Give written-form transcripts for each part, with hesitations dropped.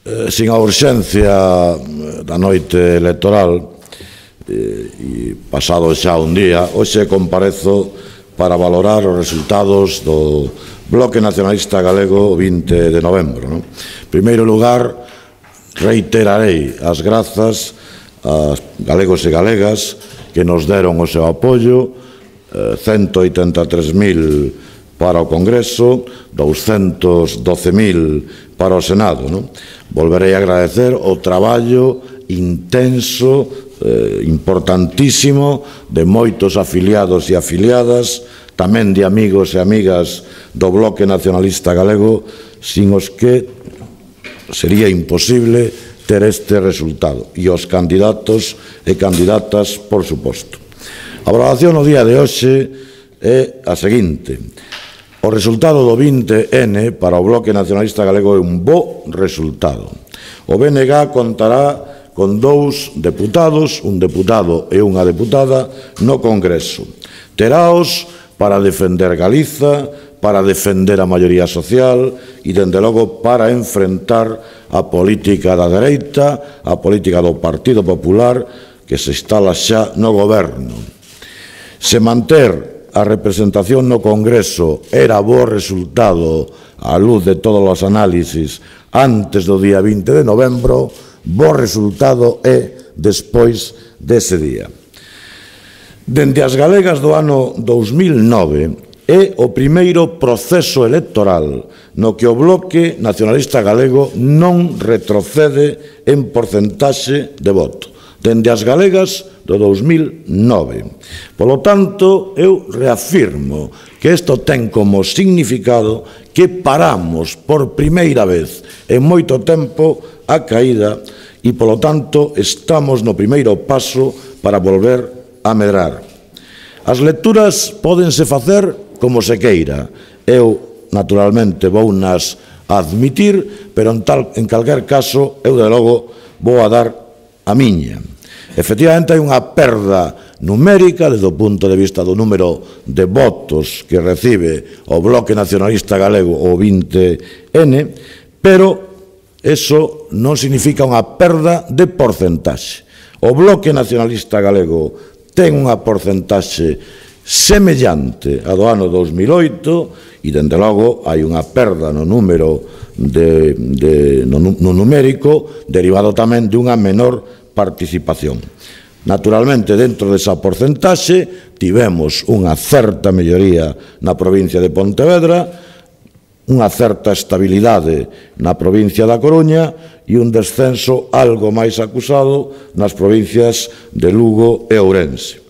Sin a urxencia da noite electoral, e pasado xa un día, hoxe comparezo para valorar os resultados do Bloque Nacionalista Galego o 20 de novembro. En primeiro lugar, reiterarei as grazas aos galegos e galegas que nos deron o seu apoio, 183.000 para o Congreso, 212.000 para o Senado. Volverei a agradecer o traballo intenso, importantísimo, de moitos afiliados e afiliadas, tamén de amigos e amigas do Bloque Nacionalista Galego, sin os que sería imposible ter este resultado, e os candidatos e candidatas, por suposto. A valoración no día de hoxe é a seguinte: o resultado do 20N para o Bloque Nacionalista Galego é un bo resultado. O BNG contará con 2 deputados, un deputado e unha deputada, no Congreso. Teraos para defender Galiza, para defender a maioría social e, dende logo, para enfrentar a política da dereita, a política do Partido Popular, que se instala xa no goberno. Se manter a representación no Congreso era bo resultado á luz de todos os análisis antes do día 20 de novembro, bo resultado é despois dese día. Dende as galegas do ano 2009 é o primeiro proceso electoral no que o Bloque Nacionalista Galego non retrocede en porcentaxe de voto. Dende as galegas do 2009. Polo tanto, eu reafirmo que isto ten como significado que paramos por primeira vez en moito tempo a caída e, polo tanto, estamos no primeiro paso para volver a medrar. As lecturas pódense facer como se queira. Eu, naturalmente, vounas admitir, pero en calquer caso, eu, de logo, vou a dar a miña. Efectivamente, hai unha perda numérica desde o punto de vista do número de votos que recibe o Bloque Nacionalista Galego o 20N, pero eso non significa unha perda de porcentaxe. O Bloque Nacionalista Galego ten unha porcentaxe semellante a do ano 2008 e, dende logo, hai unha perda no número no numérico derivado tamén dunha menor participación. Naturalmente, dentro desa porcentaxe, tivemos unha certa melloría na provincia de Pontevedra, unha certa estabilidade na provincia da Coruña e un descenso algo máis acusado nas provincias de Lugo e Ourense.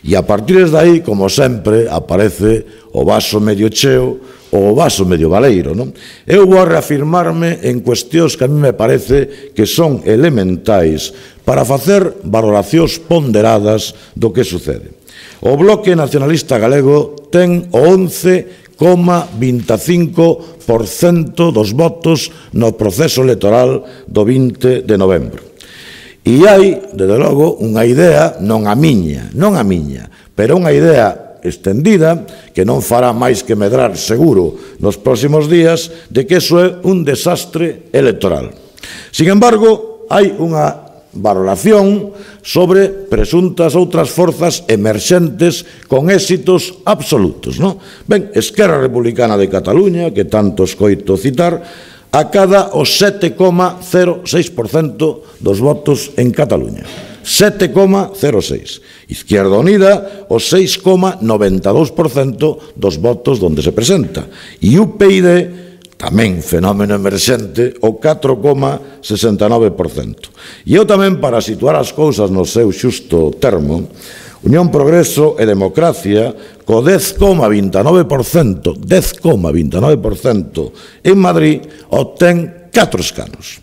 E a partir de aí, como sempre, aparece o vaso medio cheo ou o vaso medio baleiro. Eu vou reafirmarme en cuestións que a mí me parece que son elementais para facer valoracións ponderadas do que sucede. O Bloque Nacionalista Galego ten o 11,25% dos votos no proceso electoral do 20 de novembro. E hai, desde logo, unha idea, non a miña, pero unha idea extendida, que non fará máis que medrar seguro nos próximos días, de que iso é un desastre electoral. Sin embargo, hai unha valoración sobre presuntas outras forzas emerxentes con éxitos absolutos. Ben, Esquerra Republicana de Cataluña, que tanto escoito citar, acada o 7,06% dos votos en Cataluña. 7,06%. Izquierda Unida, o 6,92% dos votos donde se presenta. E UPyD, tamén fenómeno emerxente, o 4,69%. E eu tamén, para situar as cousas no seu xusto termo, Unión Progreso e Democracia, co 10,29% en Madrid, obtén 4 escanos.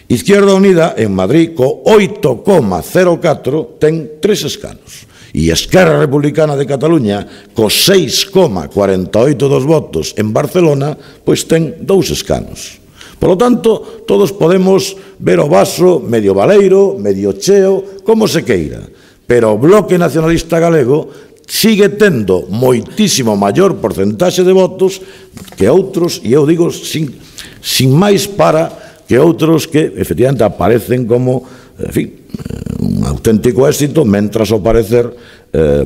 Izquierda Unida, en Madrid, co 8,04, ten 3 escanos. E Esquerra Republicana de Cataluña, co 6,48 dos votos en Barcelona, pois ten 2 escanos. Por lo tanto, todos podemos ver o vaso medio baleiro, medio cheo, como se queira. Pero o Bloque Nacionalista Galego sigue tendo moitísimo maior porcentaxe de votos que outros, e eu digo sin máis para que outros que, efectivamente, aparecen como, en fin, un auténtico éxito, mentras ao parecer,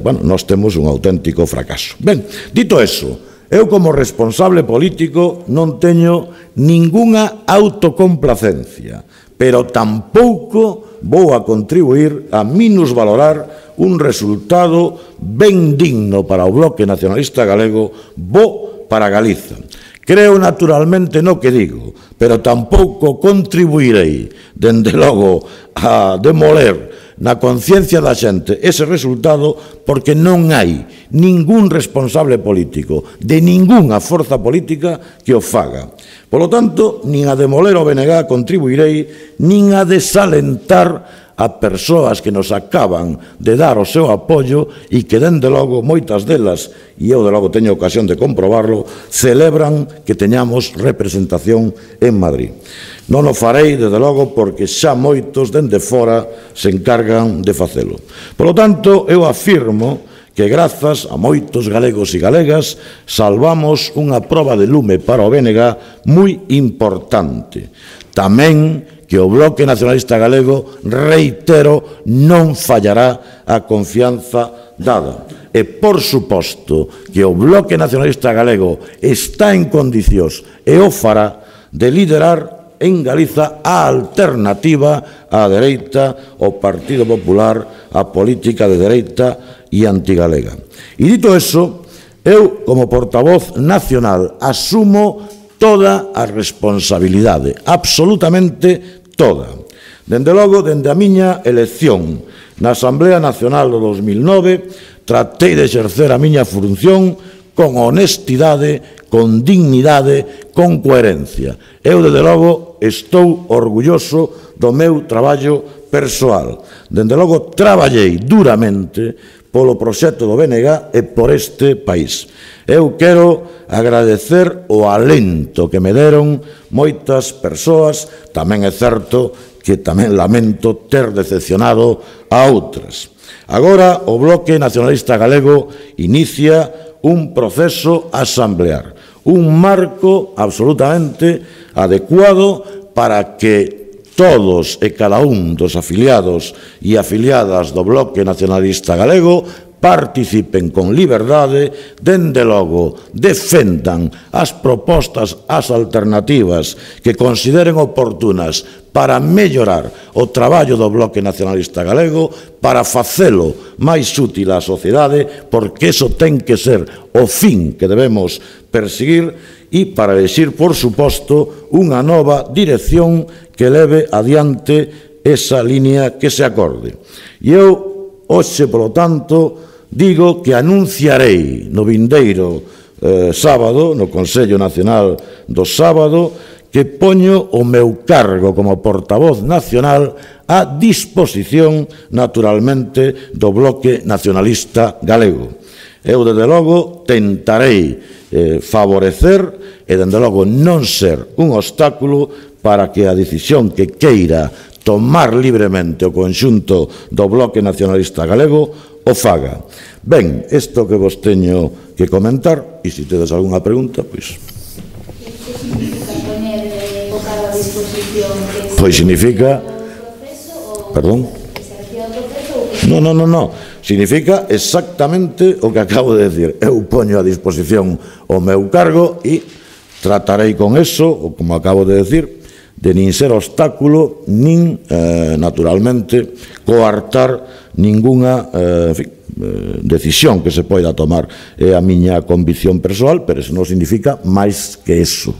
bueno, nós temos un auténtico fracaso. Ben, dito eso, eu como responsable político non teño ningunha autocomplacencia, pero tampouco vou a contribuir a minusvalorar un resultado ben digno para o Bloque Nacionalista Galego, bo para Galiza. Creo naturalmente no que digo, pero tampouco contribuirei, dende logo, a demoler na conciencia da xente ese resultado, porque non hai ningún responsable político de ningunha forza política que o faga. Polo tanto, nin a demoler o BNG contribuirei, nin a desalentar a persoas que nos acaban de dar o seu apoio e que, dende logo, moitas delas, e eu, de logo, teño ocasión de comprobarlo, celebran que teñamos representación en Madrid. Non o farei, desde logo, porque xa moitos, dende fora, se encargan de facelo. Por lo tanto, eu afirmo que, grazas a moitos galegos e galegas, salvamos unha proba de lume para o BNG moi importante. Tamén que o Bloque Nacionalista Galego, reitero, non fallará a confianza dada. E, por suposto, que o Bloque Nacionalista Galego está en condicións, e o fará, de liderar en Galiza a alternativa á dereita, ao Partido Popular, a política de dereita e antigalega. E dito eso, eu, como portavoz nacional, asumo toda a responsabilidade, absolutamente toda. Dende logo, dende a miña elección na Asamblea Nacional do 2009, tratei de exercer a miña función con honestidade, con dignidade, con coherencia. Eu, dende logo, estou orgulloso do meu traballo persoal. Dende logo, traballei duramente polo proxecto do BNG e por este país. Eu quero agradecer o alento que me deron moitas persoas, tamén é certo que tamén lamento ter decepcionado a outras. Agora o Bloque Nacionalista Galego inicia un proceso asamblear, un marco absolutamente adecuado para que todos e cada un dos afiliados e afiliadas do Bloque Nacionalista Galego participen con liberdade, dende logo defendan as propostas, as alternativas que consideren oportunas para mellorar o traballo do Bloque Nacionalista Galego, para facelo máis útil á sociedade, porque iso ten que ser o fin que debemos perseguir, e para elixir, por suposto, unha nova dirección que leve adiante esa línea que se acorde. E eu, hoxe, polo tanto, digo que anunciarei no vindeiro sábado, no Consello Nacional do sábado, que poño o meu cargo como portavoz nacional a disposición, naturalmente, do Bloque Nacionalista Galego. Eu, desde logo, tentarei favorecer e, dende logo, non ser un obstáculo para que a decisión que queira tomar libremente o conxunto do Bloque Nacionalista Galego o faga. Ben, isto que vos teño que comentar, e se tedes algunha pregunta, pois... Que significa poner a disposición? Pois significa... Perdón? Non. Significa exactamente o que acabo de decir. Eu poño a disposición o meu cargo e tratarei con eso, ou como acabo de decir, de nin ser obstáculo, nin, naturalmente, coartar ningunha decisión que se poida tomar. É a miña convicción persoal, pero eso non significa máis que eso.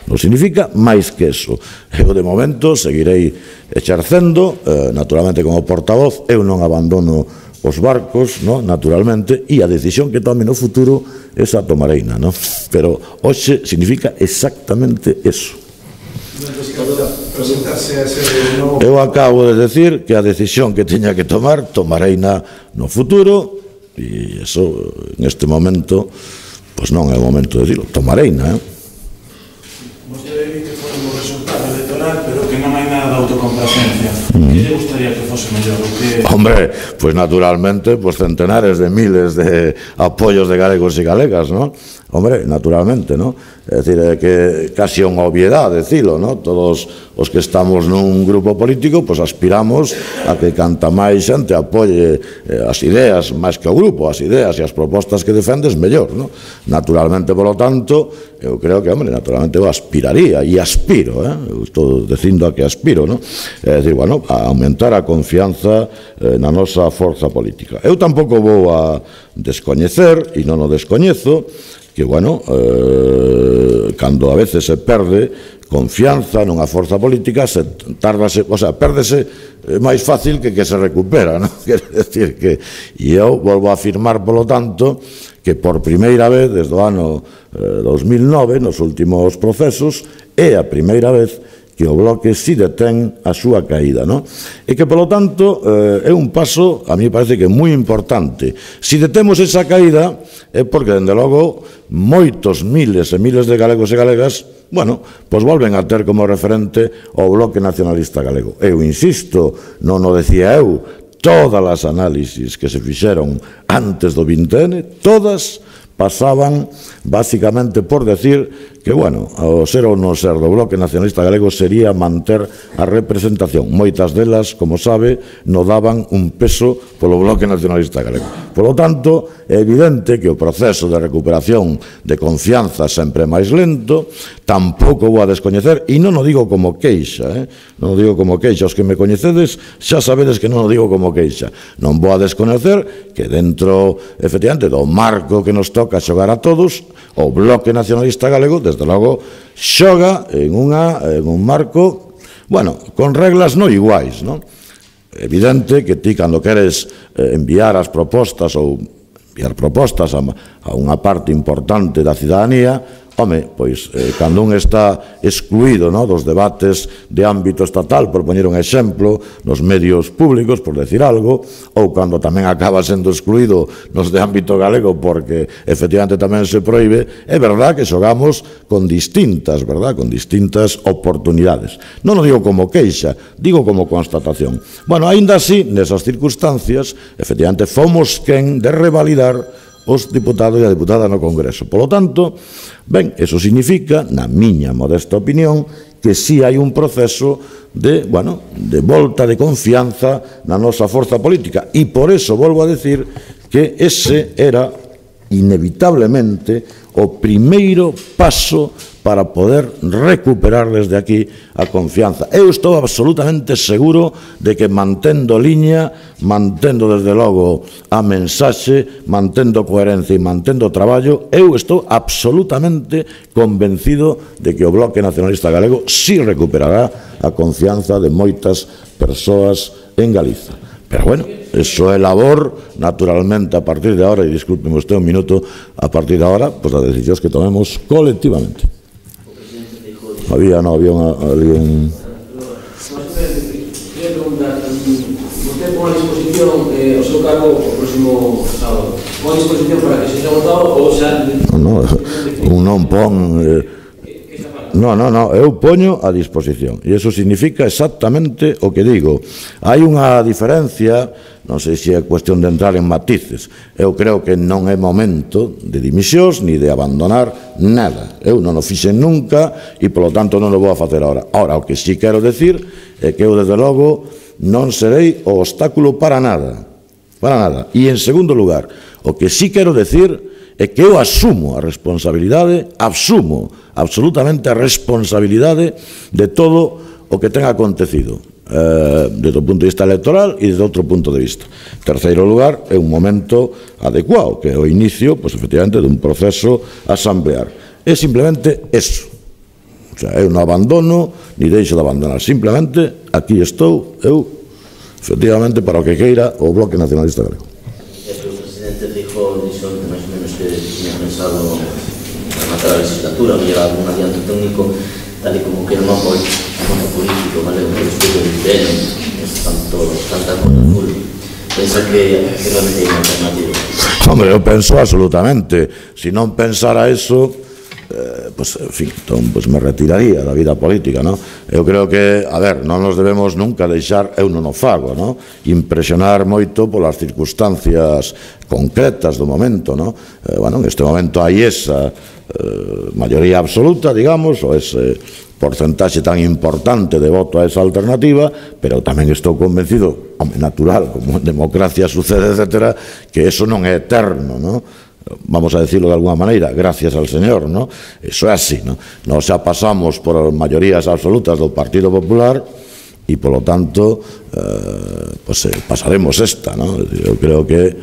Non significa máis que eso. Eu, de momento, seguirei exercendo, naturalmente, como portavoz. Eu non abandono os barcos, naturalmente, e a decisión que tome no futuro, esa tomareina, pero hoxe significa exactamente eso. Eu acabo de decir que a decisión que teña que tomar, tomareina no futuro, e eso, en este momento, pois non é o momento de dicilo, tomareina, Vostede di que foi un resultado electoral, pero que non hai nada de autocomplacencia. Que lle gustaría que fose mellor? Hombre, pois naturalmente, centenares de miles de apoios de galegos e galegas, non? Hombre, naturalmente, non? É dicir, que casi é unha obviedade, dicilo, non? Todos os que estamos nun grupo político, pois aspiramos a que canta máis xente apoie as ideas, máis que o grupo, as ideas e as propostas que defendes, mellor, non? Naturalmente, polo tanto, eu creo que, hombre, naturalmente eu aspiraría, e aspiro, eu estou dicindo a que aspiro, non? É dicir, bueno, a aumentar a confianza na nosa forza política. Eu tampouco vou a descoñecer, e non o descoñezo, que, bueno, cando a veces se perde confianza nunha forza política, pérdese máis fácil que se recupera, non? Quer decir que, e eu volvo a afirmar, polo tanto, que por primeira vez, desde o ano 2009, nos últimos procesos, é a primeira vez que o Bloque si detén a súa caída, non? E que, polo tanto, é un paso, a mí parece que é moi importante. Si detemos esa caída, é porque, dende logo, moitos miles e miles de galegos e galegas, bueno, pois volven a ter como referente o Bloque Nacionalista Galego. Eu insisto, non o decía eu, todas as análisis que se fixeron antes do 20N, todas pasaban basicamente por decir que, bueno, o ser ou non ser do Bloque Nacionalista Galego sería manter a representación. Moitas delas, como sabe, non daban un peso polo Bloque Nacionalista Galego. Por lo tanto, é evidente que o proceso de recuperación de confianza sempre é máis lento, tampouco vou a descoñecer, e non o digo como queixa, non o digo como queixa, os que me coñecedes xa sabedes que non o digo como queixa. Non vou a descoñecer que dentro, efectivamente, do marco que nos toca xogar a todos, o Bloque Nacionalista Galego, desde logo, xoga en un marco, bueno, con reglas non iguais, non? Evidente que ti, cando queres enviar as propostas ou enviar propostas a unha parte importante da cidadanía, home, pois, cando un está excluído dos debates de ámbito estatal, por poñer un exemplo, nos medios públicos, por decir algo, ou cando tamén acaba sendo excluído nos de ámbito galego porque efectivamente tamén se proíbe, é verdad que xogamos con distintas, verdad, con distintas oportunidades. Non o digo como queixa, digo como constatación. Bueno, aínda así, nesas circunstancias, efectivamente, fomos quen de revalidar os diputados e a diputada no Congreso. Por lo tanto, ben, eso significa, na miña modesta opinión, que si hai un proceso de, bueno, de volta de confianza na nosa forza política. E por eso volvo a decir que ese era inevitablemente o primeiro paso para poder recuperar desde aquí a confianza. Eu estou absolutamente seguro de que mantendo liña, mantendo desde logo a mensaxe, mantendo coherencia e mantendo traballo, eu estou absolutamente convencido de que o Bloque Nacionalista Galego si recuperará a confianza de moitas persoas en Galiza. Pero bueno, eso é labor, naturalmente, a partir de ahora, e discúlpeme usted un minuto, a partir de ahora, pues as decisións que tomemos colectivamente. Había un... Quería preguntar, usted pon a disposición o seu cargo o próximo sábado. Pon a disposición para que se sexa votado ou xa... Non, non pon... Non, eu poño a disposición. E iso significa exactamente o que digo. Hai unha diferencia, non sei se é cuestión de entrar en matices. Eu creo que non é momento de dimisións ni de abandonar nada. Eu non o fixen nunca e, polo tanto, non o vou a facer agora. Ahora, o que sí quero decir é que eu, desde logo, non serei o obstáculo para nada. Para nada. E, en segundo lugar, o que sí quero decir é que eu asumo a responsabilidade, asumo absolutamente a responsabilidade de todo o que ten acontecido, desde o punto de vista electoral e desde outro punto de vista. En terceiro lugar, é un momento adecuado, que é o inicio, pois, efectivamente, dun proceso asamblear. É simplemente eso. O sea, eu non abandono, ni deixo de abandonar. Simplemente, aquí estou, eu, efectivamente, para o que queira o Bloque Nacionalista Galego. O presidente dijo máis ou menos que tiña pensado rematar a legislatura, que lleva algún adianto técnico, tal e como que era un apoio político, galego, despois do IPN, tanta cosa full. Pensa que realmente hai unha alternativa? Hombre, eu penso absolutamente. Se non pensara eso, pues, en fin, entón, pues me retiraría da vida política, non? Eu creo que, a ver, non nos debemos nunca deixar, eu non o fago, non? Impresionar moito polas circunstancias concretas do momento, non? Bueno, en este momento hai esa maioría absoluta, digamos, ou ese porcentaxe tan importante de voto a esa alternativa, pero tamén estou convencido, natural, como en democracia sucede, etcétera, que eso non é eterno, non? Vamos a decirlo de alguna maneira, gracias al Señor, ¿no? Eso é así, ¿no? Nos xa pasamos por maiorías absolutas do Partido Popular e, polo tanto, pues pasaremos esta, ¿no? Eu creo que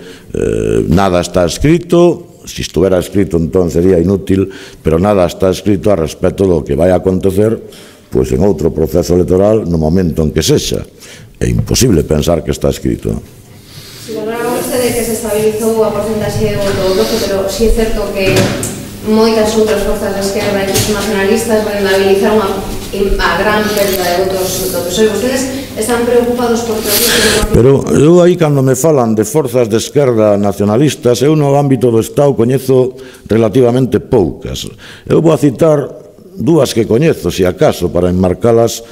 nada está escrito, si estuviera escrito entón sería inútil, pero nada está escrito a respecto do que vai a acontecer pues en outro proceso electoral no momento en que sexa. É imposible pensar que está escrito, ¿no? Si hablaba usted de que se estabilizou a porcentaxe de voto do bloque, pero si é certo que moitas outras forzas de esquerda e os nacionalistas rentabilizaron a gran perda de votos do PSOE. Vostedes están preocupados por procesos... Pero eu aí, cando me falan de forzas de esquerda nacionalistas, eu no ámbito do Estado coñezo relativamente poucas. Eu vou a citar dúas que coñezo, se acaso, para enmarcalas,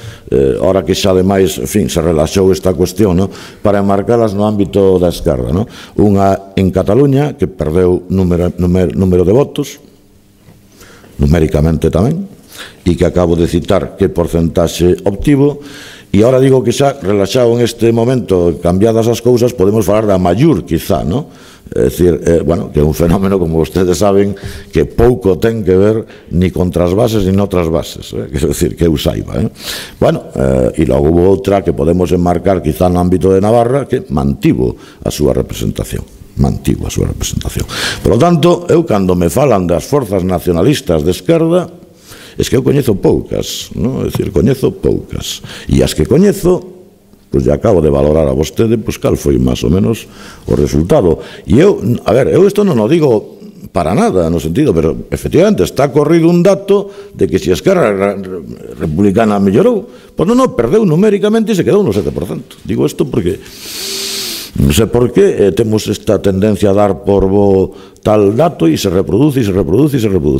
ahora que xa ademais, en fin, se relaxou esta cuestión, no? Para enmarcalas no ámbito da esquerda, no? Unha en Cataluña, que perdeu número de votos, numéricamente tamén, e que acabo de citar que porcentaxe obtivo, e ahora digo que xa relaxado en este momento, cambiadas as cousas, podemos falar da Mallur, quizá, no? É dicir, bueno, que é un fenómeno, como vostedes saben, que pouco ten que ver ni con trasvases ni noutras bases, quero dicir, que eu saiba, Bueno, e logo hubo outra que podemos enmarcar quizá no ámbito de Navarra, que mantivo a súa representación. Por lo tanto, eu cando me falan das forzas nacionalistas de esquerda, es que eu coñezo poucas, non? É dicir, coñezo poucas. E as que coñezo, pois ya acabo de valorar a vostede, pois cal foi máis ou menos o resultado. E eu, a ver, eu isto non o digo para nada, no sentido, pero efectivamente está corrido un dato de que se a Esquerra Republicana mellorou, pois non, perdeu numéricamente e se quedou no 7%. Digo isto porque non sei por que temos esta tendencia a dar por bo tal dato e se reproduce,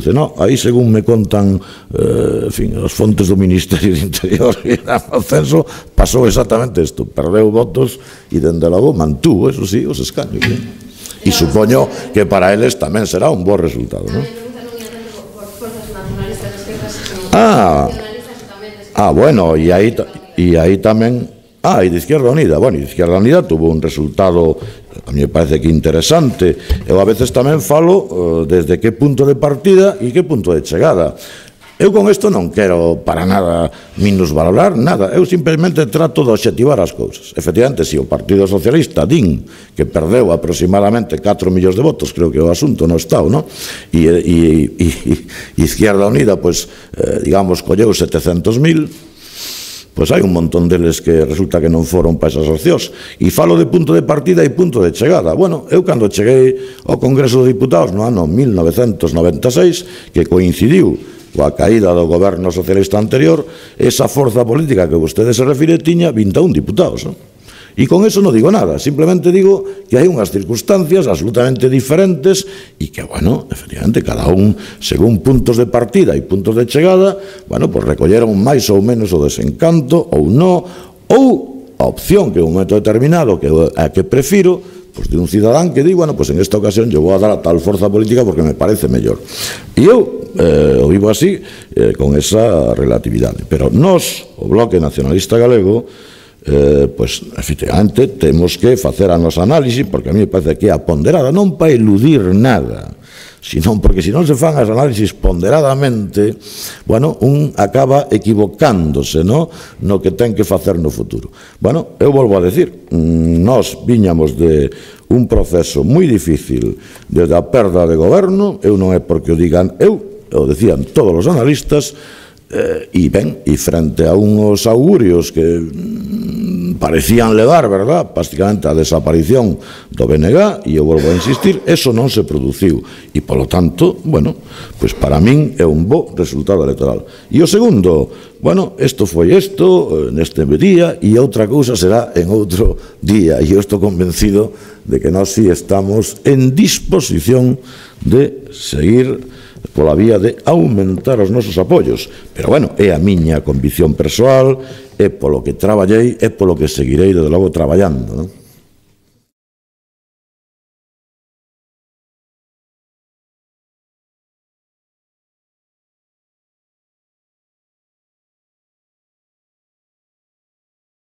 no, aí según me contan en fin, as fontes do Ministerio de Interior e o censo, pasou exactamente isto, perdeu votos e dende logo mantuvo, eso sí, os escaños, e supoño que para eles tamén será un bo resultado, non? Bueno, e aí tamén e de Izquierda Unida. Bueno, Izquierda Unida tuvo un resultado, a mí me parece que interesante. Eu a veces tamén falo desde que punto de partida e que punto de chegada. Eu con isto non quero para nada minusvalorar nada, eu simplemente trato de obxectivar as cousas. Efectivamente, se o Partido Socialista din que perdeu aproximadamente 4 millóns de votos, creo que é o asunto no Estado, non? E Izquierda Unida, pois, digamos, colleu 700.000, pois hai un montón deles que resulta que non foron para esas opcións. E falo de punto de partida e punto de chegada. Bueno, eu cando cheguei ao Congreso dos Diputados no ano 1996, que coincidiu coa caída do goberno socialista anterior, esa forza política que vostede se refire tiña 21 diputados, non? E con eso non digo nada, simplemente digo que hai unhas circunstancias absolutamente diferentes e que, bueno, efectivamente, cada un, según puntos de partida e puntos de chegada, bueno, pues recolleron máis ou menos o desencanto ou non, ou a opción que en un momento determinado que a que prefiro, pues de un cidadán que di, bueno, pues en esta ocasión yo vou a dar a tal forza política porque me parece mellor. E eu o vivo así, con esa relatividade. Pero nós, o Bloque Nacionalista Galego, pois, efectivamente, temos que facer a nosa análise, porque a mí me parece que é a ponderada, non para eludir nada, senón porque se non se fan as análisis ponderadamente, bueno, un acaba equivocándose, no que ten que facer no futuro. Bueno, eu volvo a decir, nós viñamos de un proceso moi difícil desde a perda de goberno, eu non é porque o digan eu, o decían todos os analistas, e ben, e frente a unhos augurios que parecían levar, verdad, prácticamente a desaparición do BNG, e eu volvo a insistir, eso non se produciu, e polo tanto, bueno, pois para min é un bo resultado electoral. E o segundo, bueno, isto foi isto neste día, e outra cousa será en outro día, e eu estou convencido de que nós sí estamos en disposición de seguir pola vía de aumentar os nosos apoios. Pero, bueno, é a miña convicción persoal, é polo que traballei, é polo que seguirei, desde logo, traballando, non?